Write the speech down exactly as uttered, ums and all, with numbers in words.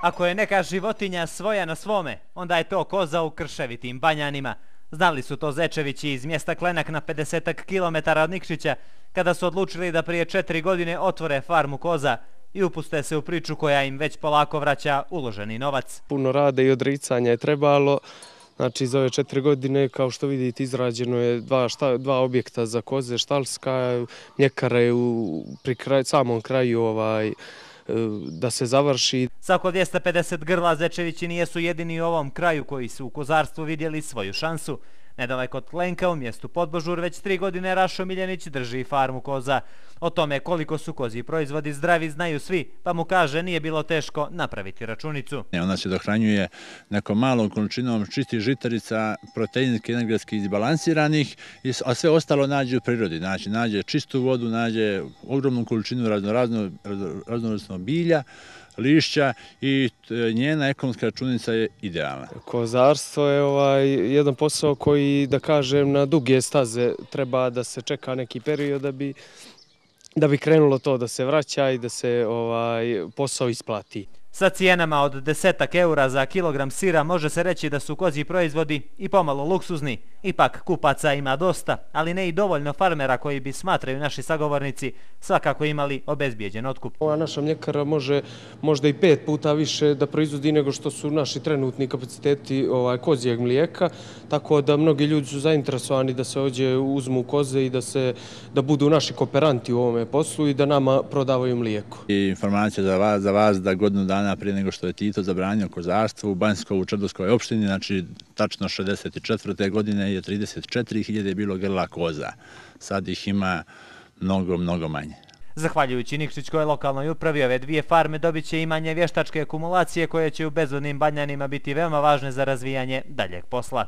Ako je neka životinja svoja na svome, onda je to koza u krševitim Banjanima. Znali su to Zečevići iz mjesta Klenak na pedesetak kilometara od Nikšića, kada su odlučili da prije četiri godine otvore farmu koza i upuste se u priču koja im već polako vraća uloženi novac. Puno rada i odricanja je trebalo. Znači, za ove četiri godine, kao što vidite, izrađeno je dva, šta, dva objekta za koze, štalska, mljekara je u, pri kraj, samom kraju ovaj, da se završi. Sa oko dvjesto pedeset grla Zečevići nijesu jedini u ovom kraju koji su u kozarstvu vidjeli svoju šansu. Nedaleko od Klenka u mjestu Podbožur već tri godine Rašo Miljenić drži farmu koza. O tome koliko su kozji proizvodi zdravi znaju svi, pa mu kaže nije bilo teško napraviti računicu. Ona se dohranjuje nekom malom količinom čistih žitarica, proteinski, energetski izbalansiranih, a sve ostalo nađe u prirodi. Znači, nađe čistu vodu, nađe ogromnu količinu raznovrsnog bilja, lišća i njena ekonomska računica je idealna. Kozarstvo je ovaj jedan posao koji, da kažem, na duge staze treba da se čeka neki period da bi da bi krenulo to da se vraća i da se ovaj posao isplati. Sa cijenama od desetak eura za kilogram sira može se reći da su kozji proizvodi i pomalo luksuzni. Ipak kupaca ima dosta, ali ne i dovoljno farmera koji bi, smatraju naši sagovornici, svakako imali obezbijeđen otkup. Ova naša mljekara može možda i pet puta više da proizvodi nego što su naši trenutni kapaciteti ovaj, kozijeg mlijeka, tako da mnogi ljudi su zainteresovani da se ovdje uzmu koze i da, se, da budu naši kooperanti u ovome poslu i da nama prodavaju mlijeko. I informacija za vas, za vas da godinu dana prije nego što je Tito zabranio kozarstvo u Banjsko-Črdovskoj opštini, znači tačno šezdeset četvrte godine je trideset četiri hiljade bilo grla koza. Sad ih ima mnogo, mnogo manje. Zahvaljujući Nikšićkoj lokalnoj upravi, ove dvije farme dobit će imanje vještačke akumulacije koje će u bezvodnim Banjanima biti veoma važne za razvijanje daljeg posla.